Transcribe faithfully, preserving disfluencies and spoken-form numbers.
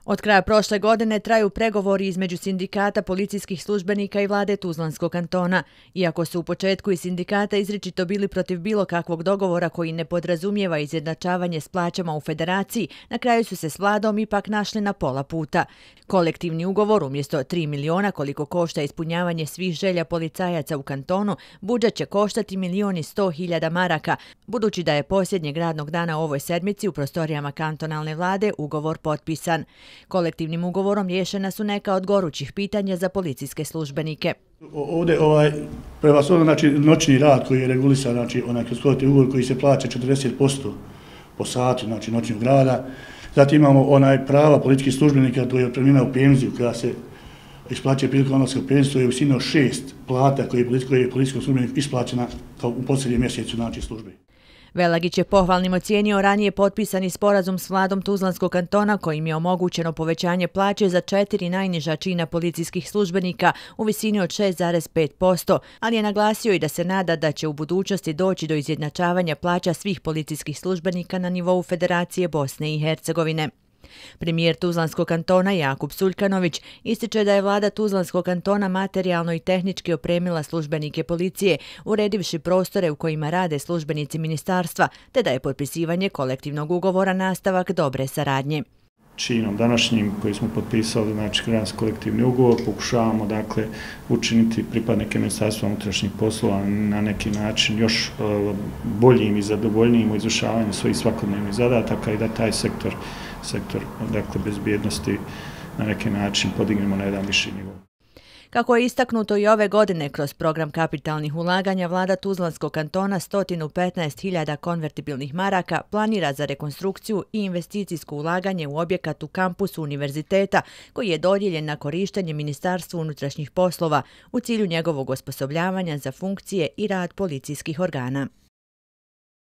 Od kraja prošle godine traju pregovori između sindikata policijskih službenika i vlade Tuzlanskog kantona. Iako su u početku i sindikata izričito bili protiv bilo kakvog dogovora koji ne podrazumijeva izjednačavanje s plaćama u federaciji, na kraju su se s vladom ipak našli na pola puta. Kolektivni ugovor umjesto tri miliona koliko košta ispunjavanje svih želja policajaca u kantonu, budžet će koštati milion i sto hiljada maraka, budući da je posljednjeg radnog dana ovoj sedmici u prostorijama kantonalne vlade ugovor potpisan. Kolektivnim ugovorom riješena su neka od gorućih pitanja za policijske službenike. Ovdje ovaj, prevashodno znači, noćni rad koji je regulisan, znači onaj kroz kolektivni ugovor koji se plaća četrdeset posto po satu, znači noćnog rada. Zatim imamo onaj prava policijskih službenika, to je otpremnina u penziju koja se isplaćuje prilikom odlaska u penziju, to je u visini od šest plata koje je policijskom službeniku isplaćena kao u posljednjem mjesecu znači službe. Velagić je pohvalnim ocijenio ranije potpisani sporazum s vladom Tuzlanskog kantona kojim je omogućeno povećanje plaće za četiri najniža čina policijskih službenika u visini od šest zarez pet posto, ali je naglasio i da se nada da će u budućnosti doći do izjednačavanja plaća svih policijskih službenika na nivou Federacije Bosne i Hercegovine. Premijer Tuzlanskog kantona Jakub Suljkanović ističe da je vlada Tuzlanskog kantona materijalno i tehnički opremila službenike policije, uredivši prostore u kojima rade službenici ministarstva, te da je potpisivanje kolektivnog ugovora nastavak dobre saradnje. Činom današnjim koji smo potpisali, znači kroz kolektivni ugovor, pokušavamo dakle učiniti pripadnike Ministarstva unutrašnjih poslova na neki način još boljim i zadovoljnijim u izvršavanju svojih svakodnevnih zadataka i da taj sektor, sektor dakle bezbjednosti na neki način podignemo na jedan viši nivo. Kako je istaknuto i ove godine kroz program kapitalnih ulaganja, vlada Tuzlanskog kantona sto petnaest hiljada konvertibilnih maraka planira za rekonstrukciju i investicijsko ulaganje u objekat u kampusu univerziteta koji je dodijeljen na korištenje Ministarstvu unutrašnjih poslova u cilju njegovog osposobljavanja za funkcije i rad policijskih organa.